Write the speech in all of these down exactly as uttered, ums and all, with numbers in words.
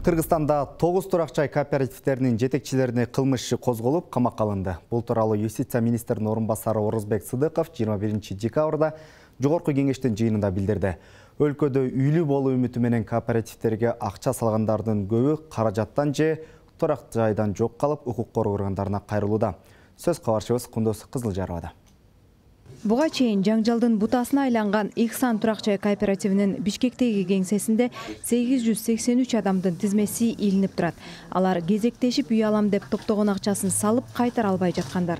Кыргызстанда тогуз турак жай кооперативтеринин жетекчилерине кылмыш иши козголуп, камакка алынды. Бул тууралуу юстиция министринин орун басары Орозбек Сыдыков жыйырма биринчи декабрда Жогорку кеңештин жыйынында билдирди. Өлкөдө үйлүү болуу үмүтү менен кооперативтерге акча салгандардын көбү каражаттан же турак жайдан жок калып, укук коргоо органдарына кайрылууда. Сөз кабарчыбыз Кундуз Кызылжаровада. Буга чейин жаңжалдын бутасына айланган Ихсан турак жай кооперативинин Бишкектеги кеңсесинде сегиз жүз сексен үч адамдын тизмеси илинип турат. Алар кезектешип үй алам деп топтогон акчасын салып кайтара албай жаткандар.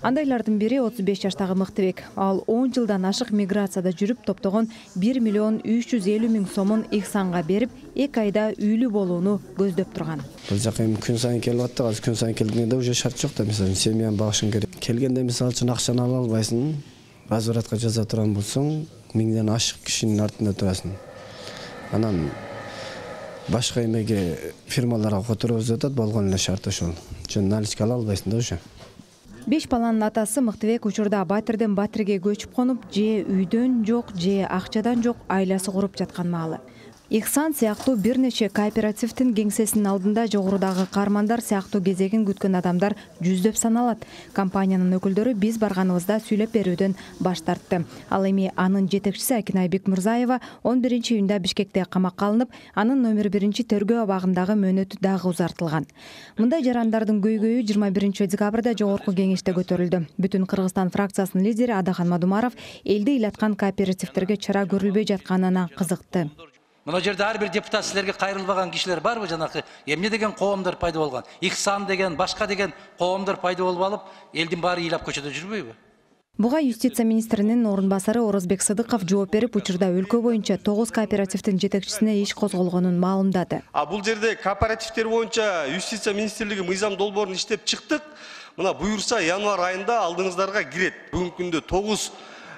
Андайлардын бири отуз беш жаштагы Мыктыбек. Ал он жылдан ашык миграцияда жүрүп топтогон бир миллион үч жүз элүү миң сомун Ихсанга берип, эки айда үйлүү болууну көздөп турган. Бул жака эми күн сайын келип атты, азыр күн сайын келгенде уже шарт жок да, мисалы семьяны багышың керек. Келгенде мисалы үчүн акчаны ала албайсың, возвратка жаза турган болсоң, миңден ашык кишинин артында турасың. Анан башка эмеге фирмаларга которуп жатат, болгон эле шарт ошол. Жөн наличка ала албайсың да уже. Беш баланын атасы Мыктыбек учурда батирден батирге көчүп конуп, же үйдөн жок, же акчадан жок айласы куруп жаткан маалы. Ихсан сыяктуу бир нече кооперативдин кеңсесинин алдында жогорудагы каармандар сыяктуу кезегин күткөн адамдар жүздөп саналат. Компаниянын өкүлдөрү биз барганыбызда сүйлөп берүүдөн баш тартты. Ал эми анын жетекчиси Акинай Бекмурзаева он биринчи июнда Бишкекте камакка алынып, анын номер биринчи тергөө абагындагы мөөнөтү дагы узартылган. Мындай жарандардын көйгөйү жыйырма биринчи декабрда Жогорку кеңеште көтөрүлдү. Бүтүн Кыргызстан фракциясынын лидери Адахан Мадумаров элди ыйлаткан кооперативтерге чара көрүлбөй жатканына кызыкты. Мына жерде ар бир депутат силерге кайрылбаган кишилер барбы? Жанакы эмне деген коомдор пайда болгон? Ихсан деген, башка деген коомдор пайда болуп алып, элдин баары ыйлап көчөдө жүрбөйбү? Буга юстиция министринин орун басары Орозбек Сыдыков жооп берип, учурда өлкө боюнча тогуз кооперативдин жетекчисине иш козголгонун маалымдады. А бул жерде кооперативтер боюнча юстиция министрлиги мыйзам долбоорун иштеп чыктык. Мына буюрса январь айында алдыңыздарга кирет. Бүгүнкү күндө тогуз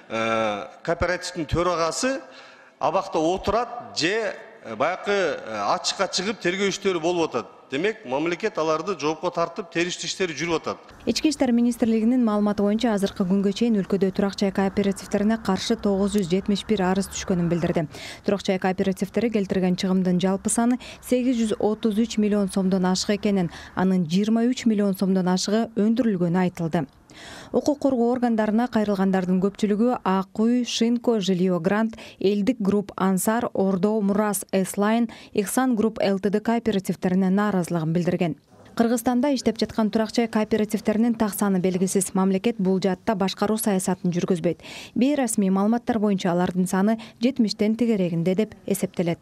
кооперативдин төрагасы абакта отурат же баякы ачыкка чыгып тергөө иштери болуп атат. Демек, мамлекет аларды жоопко тартып, териштүү иштери жүрүп атат. Ички иштер министрлигинин маалыматы боюнча азыркы күнгө чейин өлкөдө турак жай кооперативтерине каршы тогуз жүз жетимиш бир арыз түшкөнүн билдирди. Турак жай кооперативтери келтирген чыгымдын жалпы саны сегиз жүз отуз үч миллион сомдон ашык экенин, анын жыйырма үч миллион сомдон ашыгы өндүрүлгөнү айтылды. Укук коргоо органдарына кайрылгандардын көпчүлүгү Ак үй, Шинко, Жилио Грант, Элдик групп, Ансар, Ордо, Мурас, Эслайн, Ихсан групп ЛТД кооперативтерине нааразылыгын билдирген. Кыргызстанда иштеп жаткан турак жай кооперативтеринин так саны белгисиз. Мамлекет бул жаатта башкаруу саясатын жүргүзбөйт. Бейрасмий маалыматтар боюнча алардын саны жетимиштен тегерегинде деп эсептелет.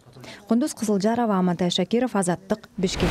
Кундуз Кызылжарова, Амантай Шакиров, Азаттык, Бишкек.